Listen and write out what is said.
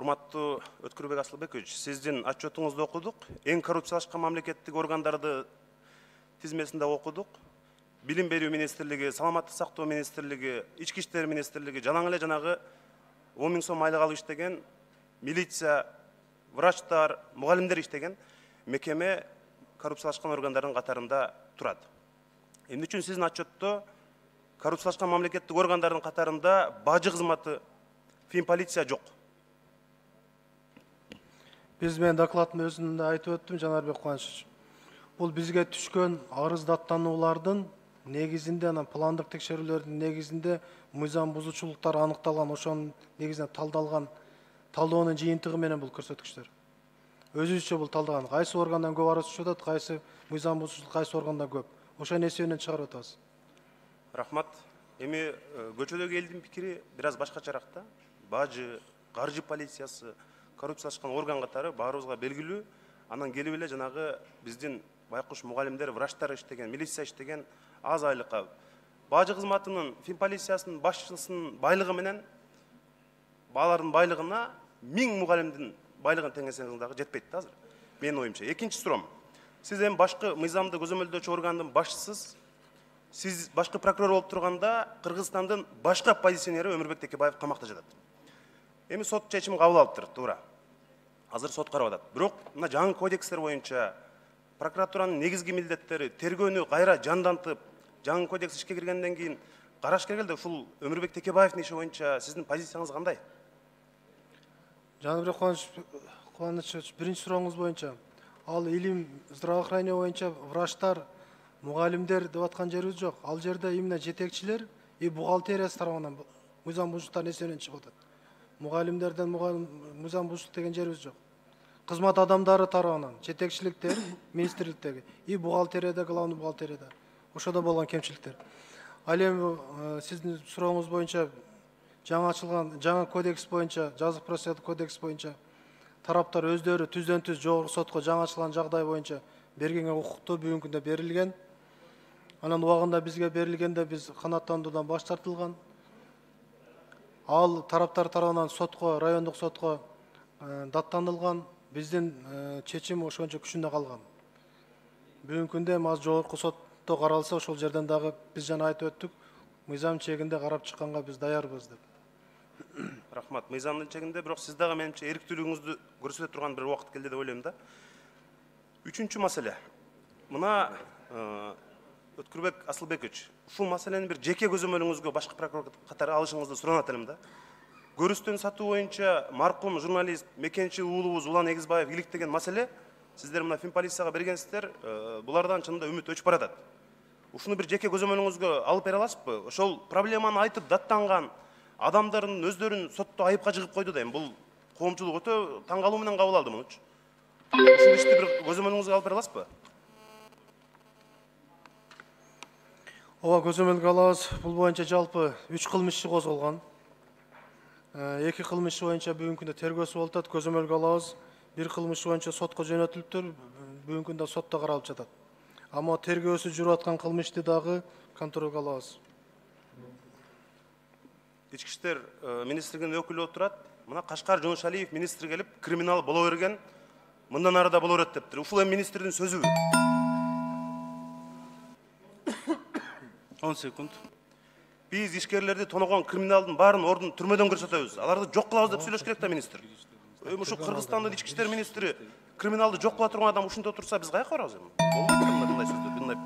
Урматтуу Өткүрбек Асылбекович, сиздин отчетуңузду окудук. Эң коррупциялашкан мамлекеттик органдарды тизмесинде окудук. Билим берүү министрлиги, саламаттык сактоо министрлиги, ички иштер министрлиги, жалаң эле жанагы 10 000 сом айлык алып иштеген милиция, врачтар, мугалимдер иштеген мекеме коррупциялашкан органдардын катарында турат. Эмне үчүн сиздин отчетто коррупциялашкан мамлекеттик органдардын катарында бажы кызматы, финполиция жок? Биз мен докладымда өзүмдө айтып өттүм, Жанарбек Кубанычович. Бул бизге түшкөн арыз даттануулардын негизинде, анан пландык текшерүүлөрдүн негизинде мыйзам бузуучулуктар аныкталган, ошонун негизинде талдалган талдоонун жыйынтыгы менен бул көрсөткүчтөр. Өзүбүзчө бул талдаган. Кайсы органдан көп арыз түшүп атат, кайсы мыйзам бузуучулук, кайсы органдан көп. Ошонун эсебинен чыгарып атабыз. Рахмат. Эми көчөдөгү элдин пикири бир аз башкачараак да. Бажы, каржы полициясы, коррупциялашкан орган катары баарыбызга белгилүү. Анан келип эле жанагы биздин байкуш мугалимдер, врачтар иштеген, милиция иштеген аз айлыкка бажы кызматынын, финполициясынын башчысынын байлыгы менен алардын байлыгына 1000 мугалимдин байлыгын теңесеңиз дагы жетпейт да азыр. Менин оюмча. Экинчи суроом. Сиз эми башкы мыйзамды көзөмөлдөөчү органдын башчысыз. Сиз башкы прокурор болуп турганда Кыргызстандын башкы оппозиционери Өмүрбек Текебаев камакта жатат. Эми сот чечим кабыл алыптыр, туура. Азыр сот карап атат. Бирок мына жаңы кодекстер боюнча прокуратуранын негизги милдеттери тергөөнү кайра жандантып, жаңы кодекс ишке киргенден кийин караш келгенде ушул Өмүрбек Текебаевдин иши боюнча сиздин позицияңыз кандай? Жанарбек Кубанычович, биринчи сурооңуз боюнча, ал илим, здравоохранение боюнча врачтар, мугалимдер деп аткан жерибиз жок. Ал жерде именно жетекчилер и бухгалтериясы тарабынан мыйзам бузуучулуктардын эсебинен чыгып атат. Мугалимдерден мыйзам бузуучулук деген жерибиз жок. Кызмат адамдары тарабынан, жетекчиликтер, министрликтеги и бухгалтерияда, главный бухгалтерияда. Ошодо болгон кемчиликтер. Ал эми сиздин сурооңуз боюнча жаңы ачылган жаңы кодекс боюнча, жазык процессуалдык кодекс боюнча тараптар өздөрү түздөн түз жогорку сотко жаңы ачылган жагдай боюнча берген укукту бүгүнкү күндө берилген. Анан убагында бизге берилгенде биз канааттандыруудан баш тартылган. Ал тараптар тарабынан сотко, райондук сотко даттанылган. Биздин чечим ошончо күчүндө калган. Бүгүнкү күндө аз жогорку сотто каралса, ошол жерден дагы биз жана айтып өттүк, мыйзам чегинде карап чыкканга биз даярбыз деп. Рахмат. Мыйзамдын чегинде, бирок сиз дагы менимче эрктүүлүгүңүздү көрсөтө турган бир убакыт келди деп ойлойм да. Үчүнчү маселе. Мына Өткүрбек Асылбекович, ушул маселени бир жеке көзөмөлүңүзгө башкы прокурор катары алышыңызды суранат элем да. Көрүстөн сатуу боюнча маркум журналист Мекенчи уулубуз Улан Эгизбаев иликтеген маселе, сиздер мына финполицияга бергенсиздер, булардан чынында үмүт өчүп баратат. Ушуну бир жеке көзөмөлүңүзгө алып бере аласызбы? Ошол проблеманы айтып даттанган адамдардын өздөрүн сотто айыпка жыгып койду да, эми бул коомчулук өтө таң калуу менен кабыл алды мунучу. Ушул ишти бир көзөмөлүңүзгө алып бере аласызбы? Ооба, көзөмөлгө алабыз. Бул боюнча жалпы 3 кылмыш иши козголгон. 2 кылмыш боюнча бүгүнкү күндө тергөөсү болуп атат, көзөмөлгө алабыз. 1 кылмыш боюнча сотко жөнөтүлүптүр, бүгүнкү күндө сотто каралып жатат. Амма тергөөсү жүрүп аткан кылмышты дагы контролго алабыз. Ички иштер министрлигинин өкүлү отурат. Мына Кашкар Жонушалиев министр келип, криминал боло берген, мындан ары да боло берет дептир. Ушул эми министрдин сөзүбү. 10 секунд. Биз ишкерлерди тоногон криминалдын баарын ордун түрмөдөн көрсөтөбүз. Аларды жок кылабыз деп сүйлөш керек да министр. Ушул Кыргызстандын ички иштер министри криминалды жок кыла турган адам ушинте отурса, биз каяка барабыз эми? Болбойт мындай сөздөр, мындай